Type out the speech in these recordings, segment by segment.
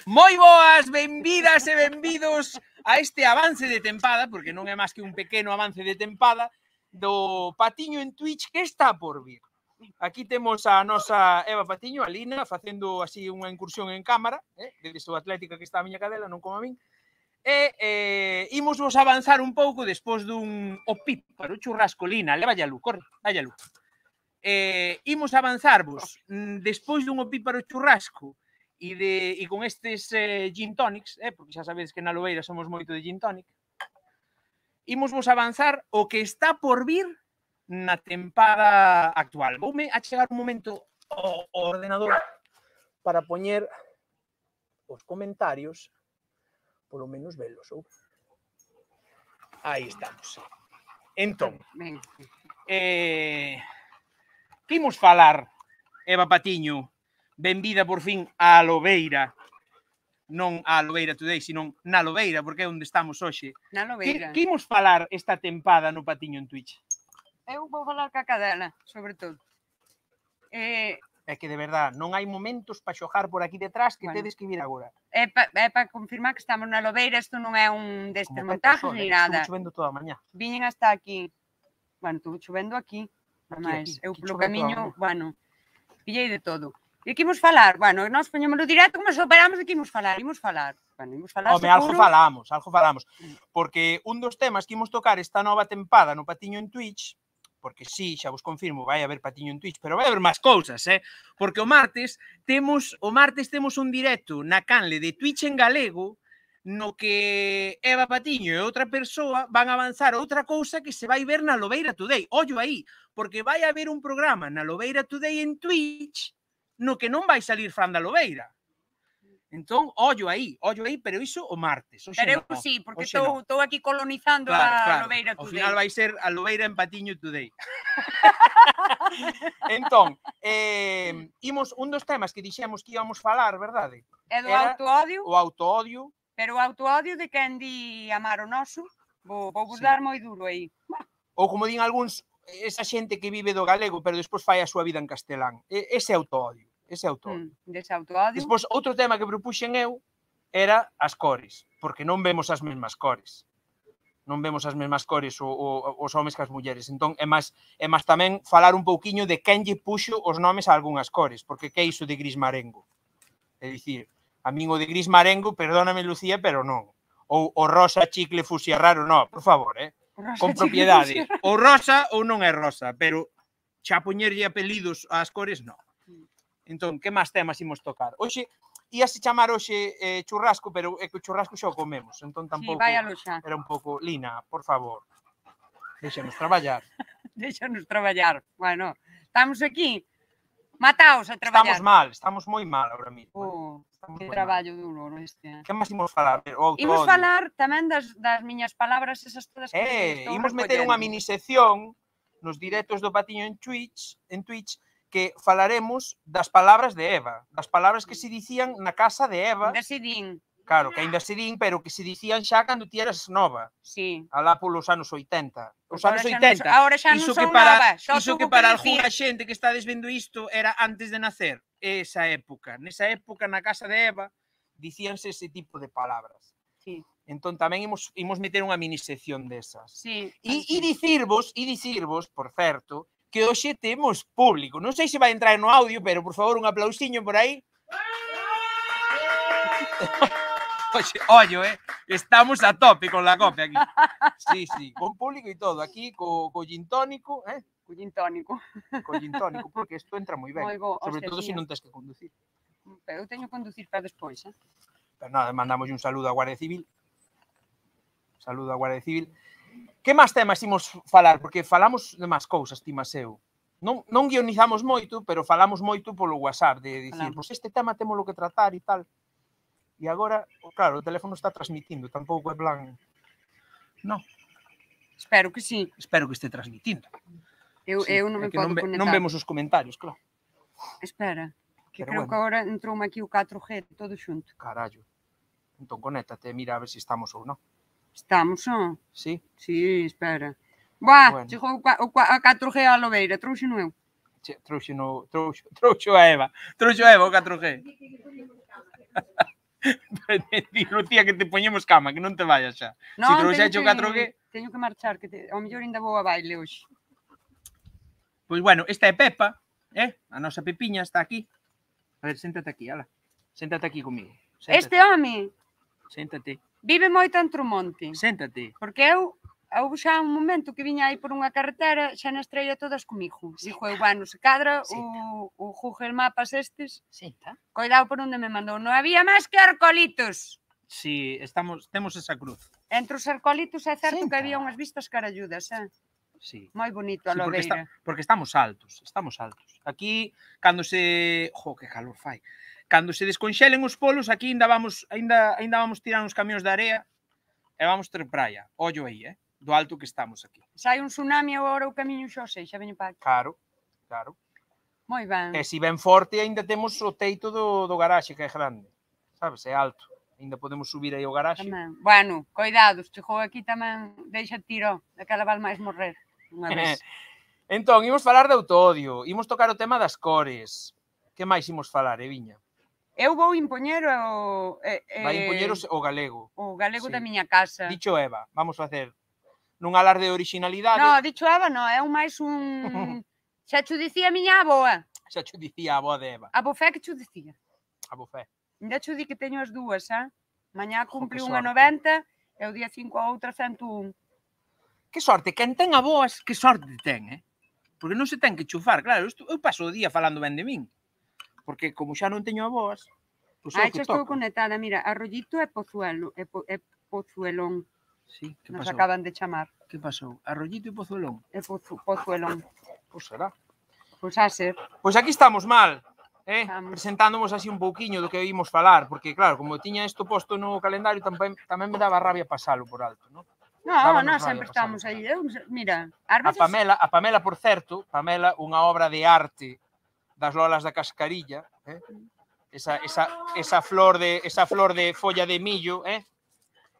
Moi boas, benvidas e benvidos a este avance de tempada, porque non é máis que un pequeno avance de tempada, do Patiño en Twitch que está por vir. Aquí temos a nosa Eva Patiño, a Lina, facendo así unha incursión en cámara, desde o Atlética que está a miña cadela, non como a min. E imos vos avanzar un pouco despois dun opíparo churrasco. Lina, leva a luz, corre, vai a luz. Imos avanzarvos despois dun opíparo churrasco e con estes gin tonics, porque xa sabedes que na Lobeira somos moito de gin tonic, imos vos avanzar o que está por vir na tempada actual. Voume a chegar un momento ao ordenador para poñer os comentarios, polo menos velos. Aí estamos. Entón, que imos falar, Eva Patiño? Benvida por fin á Lobeira, non á Lobeira Today, sino na Lobeira, porque é onde estamos hoxe. Na Lobeira. Que imos falar esta tempada no Patiño en Twitch? Eu vou falar ca cadela, sobre todo. É que, de verdad, non hai momentos para xogar por aquí detrás que tedes que vir agora. É para confirmar que estamos na Lobeira, isto non é un destes montajes ni nada. Estuvo chovendo toda a mañá. Viñen hasta aquí. Bueno, estuvo chovendo aquí. Mas eu polo camiño, bueno, pillei de todo. E que imos falar? Bueno, nós poñémoslo directo, como se operamos de que imos falar? Imos falar. Bueno, imos falar seguro. Algo falamos. Porque un dos temas que imos tocar esta nova tempada no Patiño en Twitch, porque sí, xa vos confirmo, vai haber Patiño en Twitch, pero vai haber máis cousas, porque o martes temos un directo na canle de Twitch en galego, no que Eva Patiño e outra persoa van a avanzar outra cousa que se vai ver na Lobeira Today. Ollo aí, porque vai haber un programa na Lobeira Today en Twitch no que non vai salir Fran da Lobeira. Entón, ollo aí, pero iso o martes. Pero eu sí, porque estou aquí colonizando a Lobeira Today. Ao final vai ser a Lobeira en Patiño Today. Entón, un dos temas que dixemos que íbamos falar, verdade? É do autoodio. O autoodio. Pero o autoodio de quen di amar o noso, vou dar moi duro aí. Ou como din algúns, esa xente que vive do galego, pero despois fai a súa vida en castelán. Ese autoodio. Dese autoodio. Despois, outro tema que propuxen eu era as cores, porque non vemos as mesmas cores. Non vemos as mesmas cores os homes que as mulleres. Entón, é máis tamén falar un pouquiño de quen lle puxo os nomes a algunhas cores, porque que é iso de gris marengo? É dicir, a min o de gris marengo, perdóname, Lucía, pero non. Ou o rosa chicle fusia raro, non, por favor, con propiedade. Ou rosa ou non é rosa, pero xa poñerlle apelidos ás cores, non. Entón, que máis temas imos tocar? Hoxe, íase chamar hoxe churrasco, pero é que o churrasco xa o comemos, entón tampouco era un pouco... Lina, por favor, deixanos traballar. Deixanos traballar. Bueno, estamos aquí, mataos a traballar. Estamos moi mal ahora mismo. Que traballo duro este. Que máis imos falar? Imos falar tamén das miñas palabras, esas todas que estou recollendo. Imos meter unha minisección nos directos do Patiño en Twitch, que falaremos das palabras de Eva, das palabras que se dicían na casa de Eva. Ainda se din. Claro, que ainda se din, pero que se dicían xa cando ti eras nova. Sí. Alá polos anos 80. Os anos 80. Ahora xa non son nova. Iso que para algunha xente que estades vendo isto era antes de nacer. Esa época. Nesa época, na casa de Eva, dicíanse ese tipo de palabras. Sí. Entón tamén imos meter unha minisección desas. Sí. E dicirvos, por certo, que hoxe temos público. Non sei se vai entrar no audio, pero, por favor, un aplausiño por aí. Ollo, estamos a tope con la copia aquí. Sí, con público e todo. Aquí, co gin tónico, Co gin tónico. Co gin tónico, porque isto entra moi ben. Sobre todo se non tens que conducir. Eu teño que conducir para despois, Pero nada, mandamos un saludo á Guardia Civil. Que máis temas imos falar? Porque falamos de máis cousas, ti máis eu. Non guionizamos moito, pero falamos moito polo WhatsApp, de dicir, pois este tema temos que tratar e tal. E agora, claro, o teléfono está transmitindo, tampouco é plan... Non. Espero que sí. Espero que este transmitindo. Eu non me podo conectar. Non vemos os comentarios, claro. Espera, que creo que agora entrou aquí o 4G todo xunto. Carallo. Entón, conéctate, mira a ver se estamos ou non. Estamos, non? Sí? Sí, espera. Buah, chegou a 4G a Lobeira, trouxe no eu. Trouxo a Eva o 4G. Lucía, que te poñemos cama, que non te vayas xa. Se trouxeche o 4G... Teño que marchar, que ao mellor ainda vou a baile hoxe. Pois bueno, esta é Pepa, a nosa Pepiña está aquí. A ver, séntate aquí, ala. Séntate aquí comigo. Este home Séntate. vive moito en Trumonte. Séntate. Porque eu xa un momento que viña aí por unha carretera, xa nas traía todas comigo. Dixo eu, bueno, se cadra o Google Mapas estes, coidado por onde me mandou. Non había máis que arcolitos. Sí, temos esa cruz. Entre os arcolitos é certo que había unhas vistas caralludas, Sí. Moi bonito a Lobeira. Porque estamos altos. Aquí, cando se... que calor fai. Cando se desconxelen os polos, aquí ainda vamos tirar uns camións de area e vamos ter praia. Ollo aí, do alto que estamos aquí. Sai un tsunami agora o camiño xa sei, xa veño para aquí. Claro. Moi ben. E se ven forte, ainda temos o teito do garaxe, que é grande. Sabes, é alto. Ainda podemos subir aí ao garaxe. Tamén. Bueno, coidados, chegou aquí tamén, deixa tiro, daquela val máis morrer. Unha vez. Entón, imos falar de Autodio, imos tocar o tema das cores. Que máis imos falar, Viña? Eu vou impoñer o... Vai impoñer o galego. O galego da miña casa. Dicho Eva, vamos facer nun alarde de originalidade. No, dicho Eva, no, é un máis un... Xa cho dicía a miña aboa. Xa cho dicía a aboa de Eva. A bofé que cho dicía. A bofé. Ainda cho di que teño as dúas, Mañá cumpli unha 90 e o día 5 a outra 101. Que sorte, quen ten aboas, que sorte ten, Porque non se ten que chufar, claro, eu paso o día falando ben de min. Porque como xa non teño aboas, pois é o que toca. Estou conectada, mira, Arrollito e Pozuelo, e Pozuelón. Sí, que nos pasou? acaban de chamar. Que pasou? Arrollito e Pozuelón? E Pozuelón. Pois será. Pois a ser. Pois aquí estamos mal, presentándonos así un pouquiño do que ímos falar, porque claro, como tiña isto posto no calendario, tamén me daba rabia pasalo por alto, non? No, sempre estamos aí. Mira, a Pamela, por certo, unha obra de arte das Lolas da Cascarilla, esa flor de folla de millo,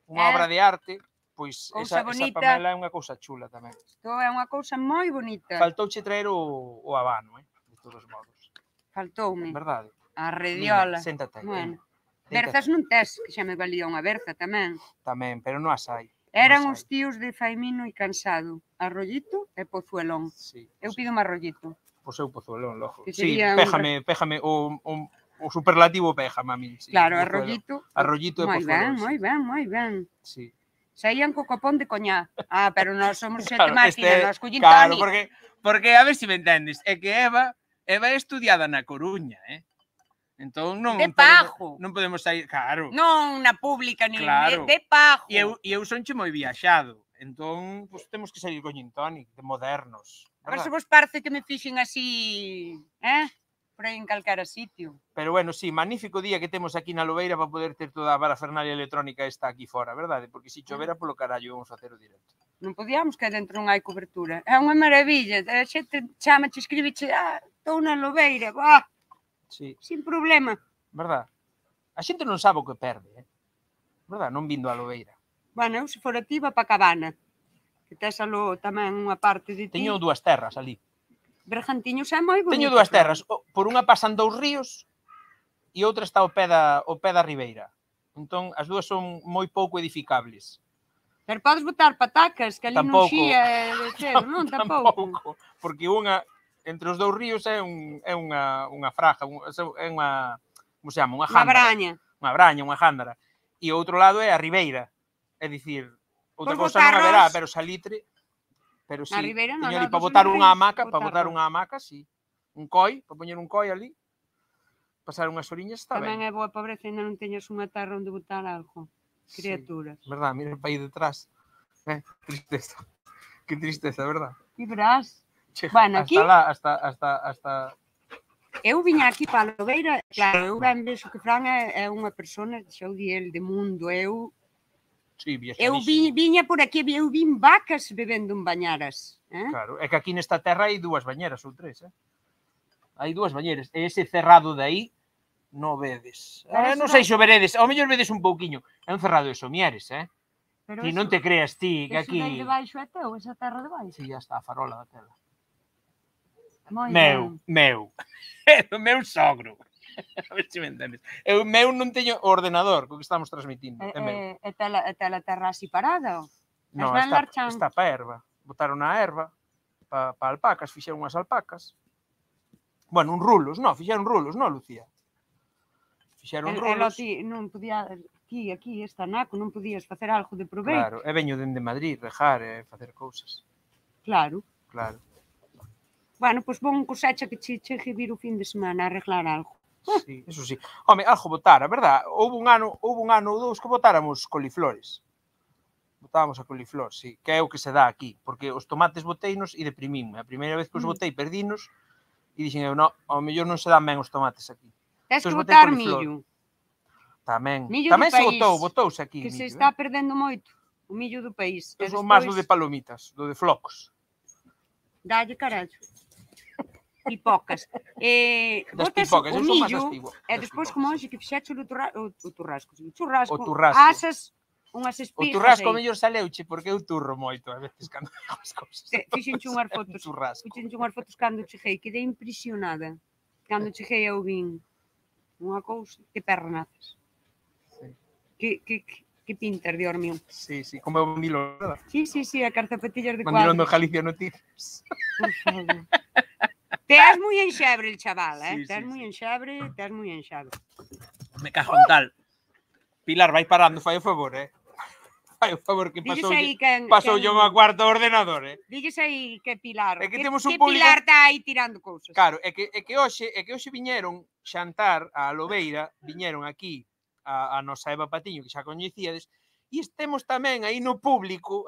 unha obra de arte, pois esa Pamela é unha cousa chula tamén. Isto é unha cousa moi bonita. Faltouche traer o habano, de todos modos. Faltoume. Verdade. A rediola. Séntate aí. Bueno, berzas non tes, que xa me valía unha berza tamén. Tamén, pero non as hai. Eran os tíos de Faimino e Cansado, Arrollito e Pozuelón. Eu pido un arrollito. Pois eu Pozuelón, logo. Sí, péjame o superlativo péjame a mí. Claro, Arrollito. Arrollito e Pozuelón. Moi ben. Sí. Saían co copón de coñá. Pero nós somos xente máquina, nós collín Claro, Toni. porque a ver se me entendes, é que Eva é estudiada na Coruña, Entón non podemos sair, claro. Non na pública, ni de pajo. E eu sonche moi viaxado. Entón, pois temos que sair con gin tonic, de modernos. A ver se vos parece que me fixen así, por aí en calquera sitio. Pero bueno, sí, magnífico día que temos aquí na Lobeira para poder ter toda a parafernalia electrónica esta aquí fora, verdade? Porque se chovera polo carallo vamos facer o directo. Non podíamos que dentro non hai cobertura. É unha maravilla. A xente chama-te, escribiche, estou na Lobeira, Sí. Sin problema. Verdad? A xente non sabe o que perde, Verdad? Non vindo a Lobeira. Bueno, eu se fora ti, va pa Cabana. Que tes aló tamén unha parte de ti. Teño 2 terras ali. Bergantiños é moi bonito. Teño 2 terras. Por unha pasan 2 ríos e outra está ao pé da ribeira. Entón, as dúas son moi pouco edificables. Pero podes botar patacas, que ali non xía de cero, non? Tampouco. Porque unha... Entre os 2 ríos é unha fraja, é unha, como se chama, unha jándara. Unha braña, unha jándara. E o outro lado é a ribeira. É dicir, outra cousa non haberá, pero salitre, pero sí. A ribeira non, para botar unha hamaca, sí. Un coi, para poñer un coi ali, pasar unhas oriñas, está ben. Tamén é boa pobreza, ainda non teñas unha terra onde botar algo. Criaturas. Verdad, mira para aí detrás. Tristeza. Que tristeza, verdad? E verás. Bueno, aquí... Hasta... Eu viña aquí para a Lobeira, claro, eu ben vexo que Fran é unha persona, xa o di el, de mundo, eu viña por aquí, eu vin vacas bebendo en bañaras. Claro, é que aquí nesta terra hai 2 bañeras ou 3, Hai 2 bañeras, e ese cerrado de aí non vedes. Non sei se o veredes, ao mellor vedes un pouquiño, é un cerrado de somieres, Si non te creas ti que aquí... Eso de baixo é teu, esa terra de baixo? Si, ya está, a farola da tela. Meu. É do meu sogro. A ver se me entendes. Eu meu non teño o ordenador co que estamos transmitindo. É meu. E tela terra así parada, No, van está marchando. pa erva. Botaron na erva pa alpacas, fixeron unhas alpacas. Bueno, rulos, fixeron rulos, Lucía? Fixeron rulos. Non podía, aquí, esta naco, non podías facer algo de proveito. Claro, e veño dende Madrid, rejar e facer cousas. Claro. Claro. Bueno, pois bon cosecha que chegue vir o fin de semana a arreglar algo. Sí, eso sí. Home, algo botara, verdad? Houve un ano ou dous que botáramos coliflores. Botábamos a coliflor, sí, que é o que se dá aquí, porque os tomates boteinos e deprimíme. A primeira vez que os botei perdinos e dixen eu, ao mellor non se dan ben os tomates aquí. Tens que botar millo. Tamén. Millo Tamén do se país, botouse aquí. Que millo, se está perdendo moito. O millo do país. Eu son máis do de palomitas, do de flocos. Dalle carallo. Pipocas. Das pipocas, eu son máis das pipocas. E despois como hoxe que fixeche o churrasco, asas unhas espigas. O churrasco ao mellor saleuche, porque eu turro moito a veces cando digo as cousas. Fixenche unhas fotos cando cheguei, quedei impresionada. Cando cheguei eu vin unha cousa, que pernas. Que pintas, Dios mío. Sí, como é o Mandilón, verdad? Sí, a carzapatillas de cuadros. Mandilón do Galicia Noticias. Por favor. Te has moi enxebre el chaval, Sí, te has moi enxebre. Me cago en tal. Pilar, vai parando, fai o favor, Fai o favor que pasoulle unha cuarta ordenador, Dilles aí que Pilar, é que temos un público... Pilar está aí tirando cousas. Claro, é que hoxe viñeron xantar a Lobeira, viñeron aquí a nosa Eva Patiño, que xa coñecíades, e temos tamén aí no público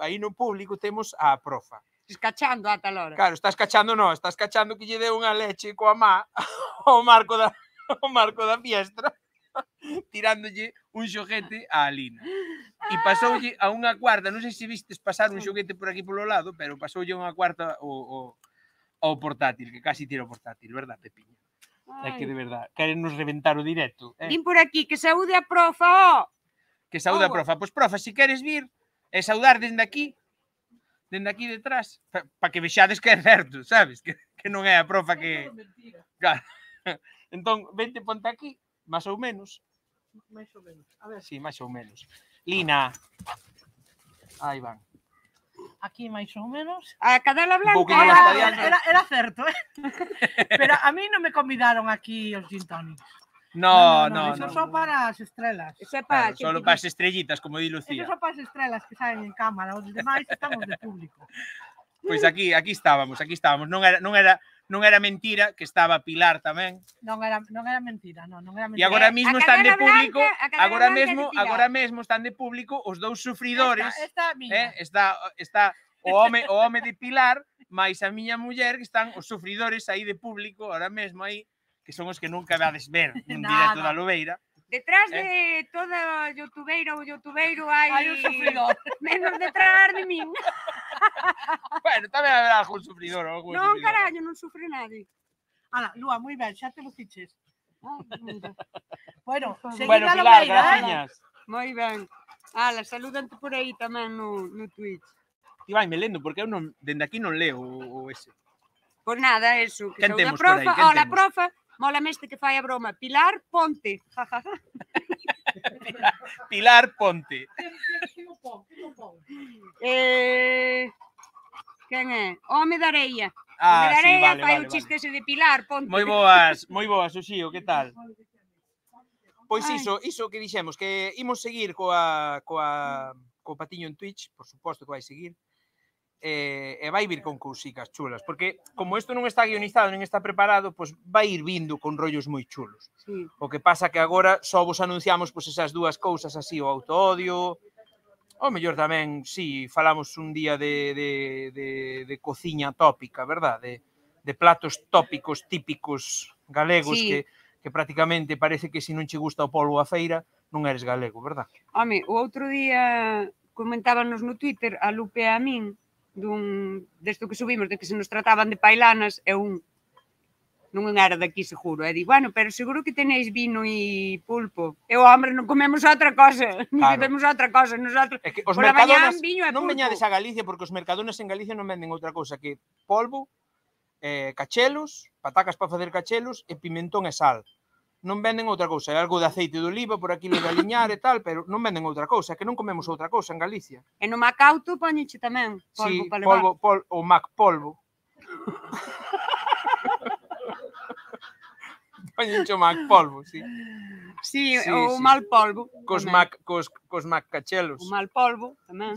temos a profa. Escachando a tal hora. Claro, estás cachando que lle deu unha leche coa má ao marco da fiestra, tirándolle un xoguete a Alina. E pasoulle a unha cuarta, non sei se vistes pasar un xoguete por aquí polo lado, pero pasoulle a unha cuarta ao portátil, que casi tira o portátil, verdad, Pepiña? É que de verdad, queren nos reventar o directo. Vin por aquí, que saúde a profa, Que saúde a profa. Pois profa, se queres vir e saudar dende aquí detrás, para que vexades que é certo, sabes? Que non é a profa que... Claro. Entón, vente ponte aquí, máis ou menos. A ver, sí, máis ou menos. Lina. Aí van. Aquí máis ou menos. A cadela blanca. Era certo, Pero a mí non me convidaron aquí os gin tonics. No. Eso só para as estrelas. Claro, solo para as estrellitas, como di Lucía. Eso só para as estrelas que saen en cámara. Os demais estamos de público. Pois aquí estábamos. Non era mentira que estaba Pilar tamén. Non era mentira, non era mentira. E agora mesmo están de público, agora mesmo están de público os dous sufridores. Esta miña. Está o home de Pilar, máis a miña muller, que están os sufridores aí de público, ahora mesmo aí, que son os que nunca vades ver nun directo da Lobeira. Detrás de toda youtubeira ou youtubeiro hai un sufridor. Menos detrás de min. Bueno, tamén haberá algún sufridor. Non, carallo, non sufre nadie. Ala, Lúa, moi ben, xa te luciches. Bueno, Bueno, Pilar, graciñas. Moi ben. Ala, saludante por aí tamén no Twitch. Ti vai me lendo, porque eu dende aquí non leo o ese. Pois nada, eso. Quen temos por aí? Hola, profa. Mola este que fai a broma. Pilar Ponte. Pilar Ponte. Quen é? Home da Areia. Ah, sí, vale, fai o chiste ese de Pilar Ponte. Moi boas, Uxío, que tal? Pois iso que dixemos, que imos seguir co Patiño en Twitch, por suposto que vai seguir. E vai vir con cousicas chulas, porque como isto non está guionizado nin está preparado, pois vai ir vindo con rollos moi chulos. Sí. O que pasa que agora só vos anunciamos pois esas dúas cousas así, o autoodio, ou mellor tamén, si, falamos un día de cociña tópica, verdad? De platos tópicos típicos galegos que prácticamente parece que se non che gusta o polvo a feira, non eres galego, verdad? Home, o outro día comentábanos no Twitter a Lupe e a min desto que subimos, de que se nos trataban de pailanas, e non era daqui seguro, e di, bueno, pero seguro que tenéis vino e pulpo. E hombre, non comemos outra cosa, non temos outra cosa, nosotros, é que os pola mañá viño e non pulpo. veñades a Galicia, porque os mercadones en Galicia non venden outra cosa que polvo, cachelos, patacas para facer cachelos e pimentón e sal. non venden outra cousa. Hai algo de aceite de oliva por aquí lo de aliñar e tal, pero non venden outra cousa, é que non comemos outra cousa en Galicia. E no Macauto poñeche tamén polvo Sí, para levar. o Mac polvo. Poñenche o Mac polvo, sí. Sí, Sí, o sí. mal polvo. Cos tamén. Mac cachelos. O mal polvo tamén.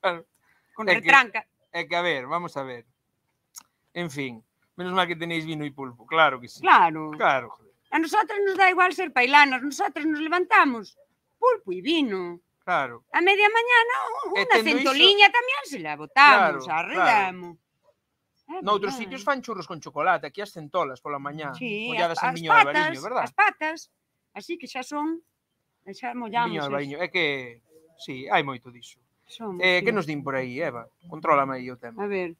Claro. Con É que- retranca. É que, a ver, vamos a ver. En fin, menos mal que tenéis vino e pulpo, claro que sí. Claro. Claro, joder. A nosotros nos da igual ser pailanas. Nosotros nos levantamos pulpo e vino. Claro. A media mañana E unha tendo centoliña tamén se la botamos, Claro, arredamos. Noutros sitios fan churros con chocolate, aquí as centolas pola mañá, Sí, molladas en as viño de albariño, verdad? As patas, así que xa son, xa mollamos. Viño de albariño, é que, sí, hai moito diso. Somos, Que sí. nos din por aí, Eva? Contrólame aí o tema. A ver.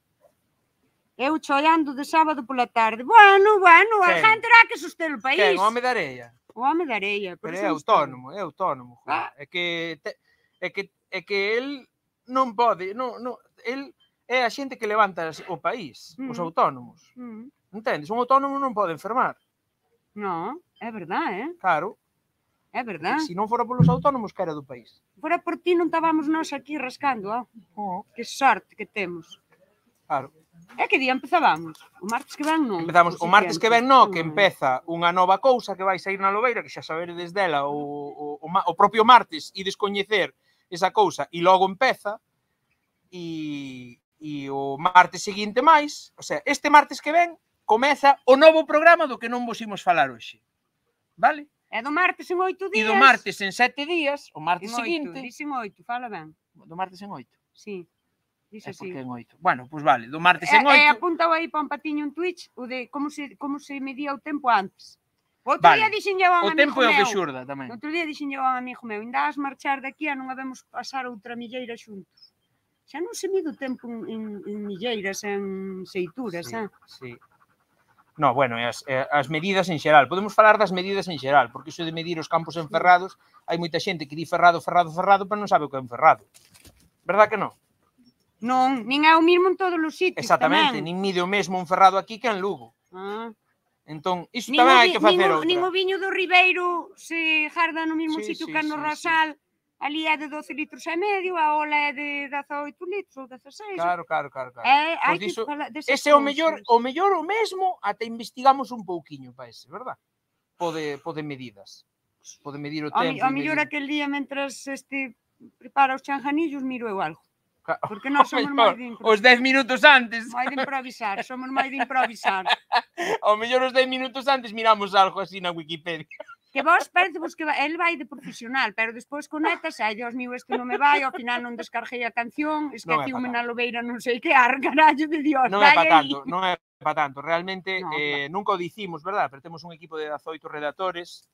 Eu chollando de sábado pola tarde. Bueno, a Quen? gente terá que soster o país. Quen, o home da areia? O home da areia. Por Pero eso é non está. autónomo, joder. É que el non pode, el é a xente que levanta o país, os autónomos. Entendes? Un autónomo non pode enfermar. No, é verdad, Claro, é verdad. se non fora polos autónomos, que era do país. Fora por ti non estábamos nós aquí rascando, Que sorte que temos. Claro. É que día empezábamos? O martes que ven non. Empezamos o martes que ven, que empeza unha nova cousa que vai sair na Lobeira, que xa saberedes dela o propio martes, e descoñecer esa cousa, e logo empeza, e o martes seguinte máis, o sea, este martes que ven, comeza o novo programa do que non vos imos falar hoxe. Vale? É do martes en 8 días. E do martes en 7 días, o martes en 8, seguinte... dicen 8, fala ben. Do martes en 8? Sí, dice así. Porque en 8. Bueno, pois vale, do martes en 8... apuntao aí para un patiño en Twitch o de como se medía o tempo antes. Outro Vale. día dixenlle a un O amigo tempo é o que meu. xurda tamén. Outro día dixenlle a un amigo meu, ainda has marchar daqui a non habemos pasar outra milleira xuntos. Xa non se mide o tempo en milleiras, en seituras, Sí. No, bueno, as medidas en xeral. Podemos falar das medidas en xeral, porque iso de medir os campos enferrados, hai moita xente que di ferrado, pero non sabe o que é un ferrado. Verdad que non? Non, nin é o mismo en todos os sitios. Exactamente, tamén. nin mide o mesmo un ferrado aquí que en Lugo. Entón, iso Nin tamén o hai que facer outra. Nin o viño do Ribeiro se jarda no mesmo Sí, sitio sí, que no sí, Rasal. Ali é de 12 litros e medio, a ola é de 18 litros ou 16. Claro. Hai Pois que diso, falar desas ese é o cousas. mellor o mesmo, ate investigamos un pouquiño para ese, verdad? Pode medidas. Pode medir o tempo. A mellor aquel día, mentras prepara os chanjanillos, miro eu algo. Porque nós somos moi de Os 10 minutos antes. Moi de improvisar, somos moi de improvisar. Ao mellor os 10 minutos antes miramos algo así na Wikipedia. Que vos parece que el vai de profesional, pero despois conectas, ai, Dios mío, isto non me vai, ao final non descarguei a canción, esqueciume na Lobeira, non sei que, carallo de Dios, non é para tanto, realmente nunca o dicimos, verdad? Pero temos un equipo de 18 redactores,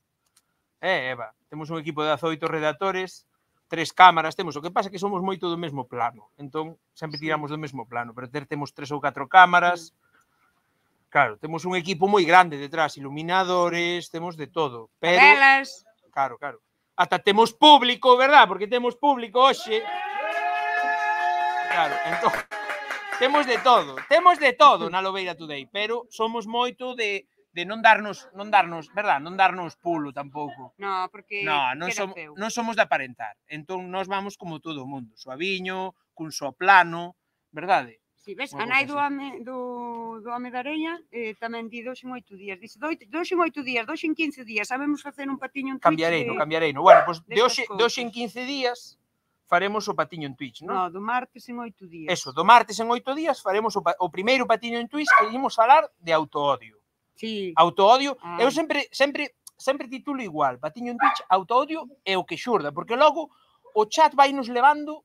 Eva, temos un equipo de 18 redactores, 3 cámaras temos, o que pasa é que somos moito do mesmo plano, entón sempre tiramos do mesmo plano, pero temos 3 ou 4 cámaras, claro, temos un equipo moi grande detrás, iluminadores, temos de todo, pero... Velas. Claro. Ata temos público, verdad? Porque temos público hoxe. Claro, entón, temos de todo na Lobeira Today, pero somos moito de non darnos, verdad? Non darnos pulo tampouco. No, porque non somos de aparentar. Entón, nós vamos como todo o mundo, suaviño, cun só plano, verdade? Si, ves, a nai do home da areia tamén di 2 en 8 días. Dice, 2 en 8 días, 2 en 15 días, sabemos facer un patiño en Twitch. Cambiareino. Bueno, pois de hoxe en 15 días faremos o patiño en Twitch, non? No, do martes en 8 días. Eso, do martes en 8 días faremos o primeiro patiño en Twitch que imos falar de autoodio. Sí. Autoodio, eu sempre titulo igual, patiño en Twitch, autoodio é o que xurda, porque logo o chat vai nos levando.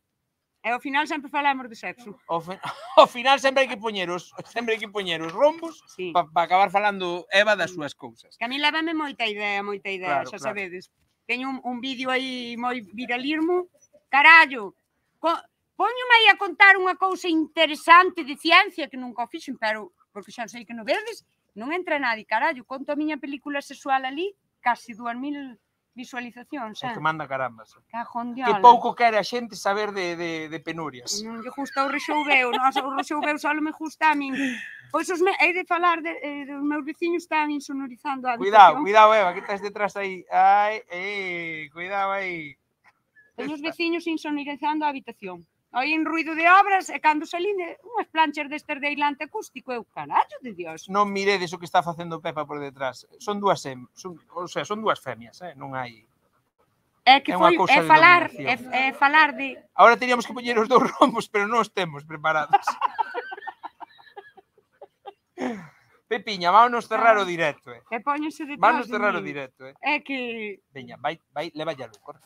E ao final sempre falamos de sexo. Ao final sempre hai que poñer os rombos para acabar falando Eva das súas cousas. Que a mí lévame moita idea, xa sabedes. Teño un vídeo aí moi viralismo. Carallo, poñome aí a contar unha cousa interesante de ciencia que nunca o fixen, pero porque xa sei que non vedes, non entra nadie, carallo, conto a miña película sexual ali, casi 2000 visualizacións, É que manda carambas. Cajón Que diola. pouco quere a xente saber de penurias. Non lle gusta o rexoubeu, o rexoubeu só me gusta a min. Pois hei de falar dos meus veciños están insonorizando a habitación. Cuidado, Eva, que estás detrás aí. Ai, cuidado aí. Teño os veciños insonorizando a habitación. Oín ruido de obras e cando salín unhas planchas destes de aislante acústico, eu, carallo de Dios. Non miredes o que está facendo Pepa por detrás. Son dúas femias, non hai... É que É unha foi, cousa de falar dominación. de... Agora teríamos que poñer os 2 rombos, pero non os temos preparados. Pepiña, vámonos cerrar o directo, E póñense detrás Vámonos de cerrar o min. directo, É que... Veña, vai, leva ya luz, corre.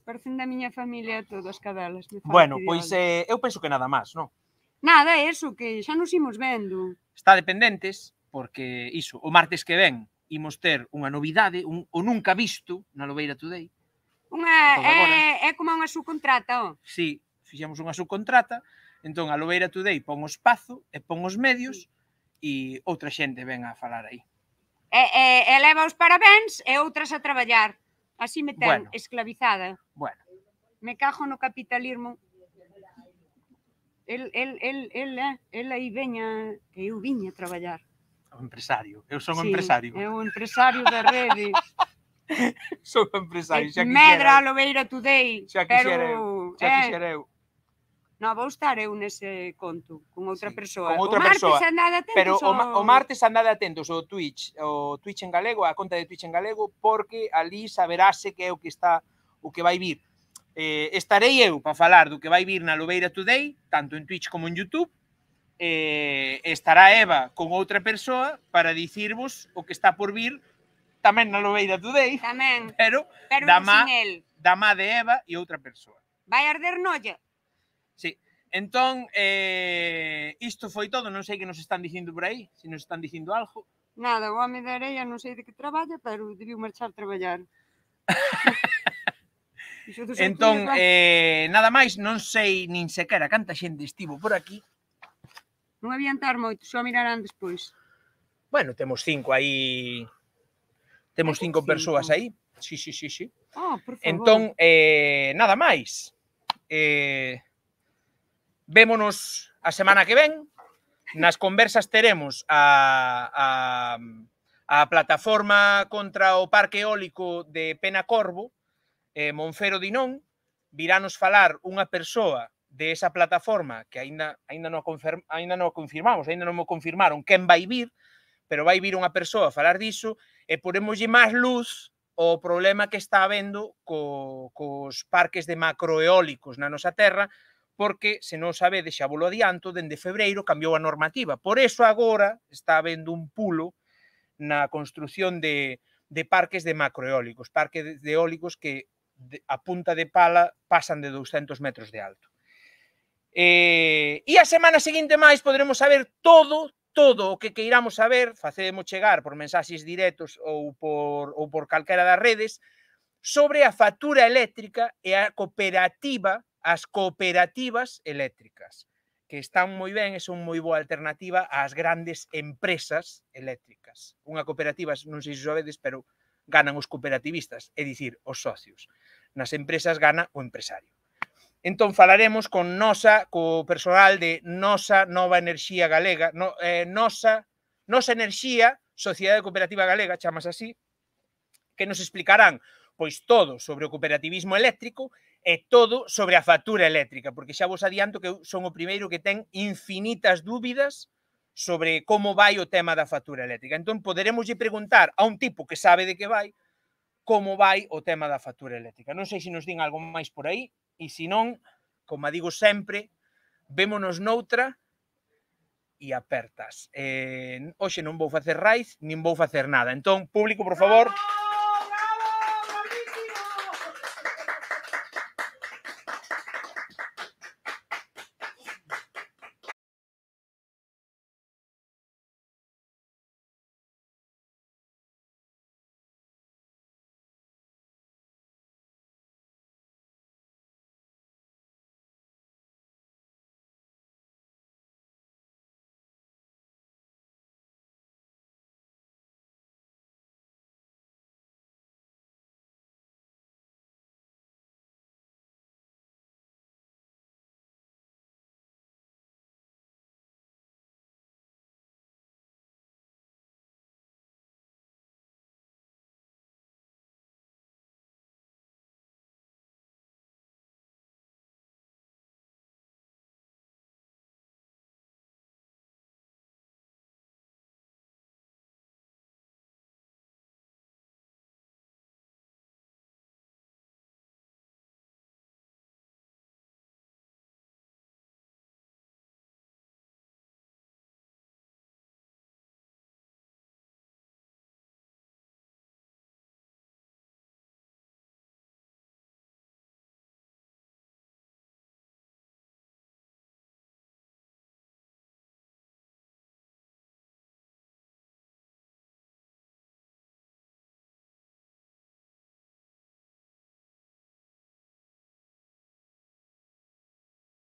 Parecen da miña familia todas cadelas. Bueno, pois eu penso que nada máis, non? Nada, é eso, que xa nos imos vendo. Está dependentes, porque iso, o martes que ven imos ter unha novidade, o nunca visto na Lobeira Today. É como unha subcontrata, ó. Si, fixemos unha subcontrata, entón a Lobeira Today pon o espazo e pon os medios e outra xente ven a falar aí. E leva os parabéns e outras a traballar. Así me ten esclavizada. Bueno. Me cajo no capitalismo. El aí veña, que eu viña a traballar. O empresario. Eu son o empresario. É o empresario da rede. Son o empresario, xa quixera. Medra a Lobeira Today. Xa quixera eu. Non, vou estar eu nese conto, con outra persoa. Con outra persoa. Pero o martes andade atentos ao Twitch en galego, a conta de Twitch en galego, porque ali saberase que é o que vai vir. Estarei eu para falar do que vai vir na Lobeira Today, tanto en Twitch como en YouTube. Estará Eva con outra persoa para dicirvos o que está por vir tamén na Lobeira Today. Tamén. Pero da má de Eva e outra persoa. Vai arder nolla. Sí. Entón, isto foi todo, non sei que nos están dicindo por aí, se nos están dicindo algo. Nada, o home da areia non sei de que traballa, pero debiu marchar a traballar. Entón, nada máis, non sei nin sequera canta xente estivo por aquí. Non adiantar moito, só mirarán despois. Bueno, temos 5 aí. Temos 5 persoas aí. Sí. Oh, por favor. Entón, nada máis. Vémonos a semana que ven. Nas conversas teremos a plataforma contra o parque eólico de Penacorvo, Monfero Dinón. Viranos falar unha persoa de esa plataforma que aínda non confirmamos, aínda non mo confirmaron quen vai vir, pero vai vir unha persoa a falar diso e poremoslle máis luz o problema que está habendo cos parques de macroeólicos na nosa terra, porque, se non sabedes, xa volo adianto, dende febreiro cambiou a normativa. Por eso agora está habendo un pulo na construción de parques de macroeólicos, parques de eólicos que a punta de pala pasan de 200 metros de alto. E a semana seguinte máis poderemos saber todo o que queiramos saber, facedemos chegar por mensaxes directos ou por calquera das redes, sobre a factura eléctrica e a cooperativa, as cooperativas eléctricas, que están moi ben e son moi boa alternativa ás grandes empresas eléctricas. Unha cooperativa, non sei se sabedes, pero ganan os cooperativistas, é dicir, os socios. Nas empresas gana o empresario. Entón falaremos co personal de Nosa Nova Enerxía Galega, Nosa Enerxía, Sociedade Cooperativa Galega, chamas así, que nos explicarán pois todo sobre o cooperativismo eléctrico e todo sobre a factura eléctrica, porque xa vos adianto que eu son o primeiro que ten infinitas dúbidas sobre como vai o tema da factura eléctrica. Entón poderemoslle preguntar a un tipo que sabe de que vai como vai o tema da factura eléctrica. Non sei se nos din algo máis por aí, e se non, como digo sempre, vémonos noutra e apertas. Hoxe non vou facer raíz, nin vou facer nada. Entón, público, por favor...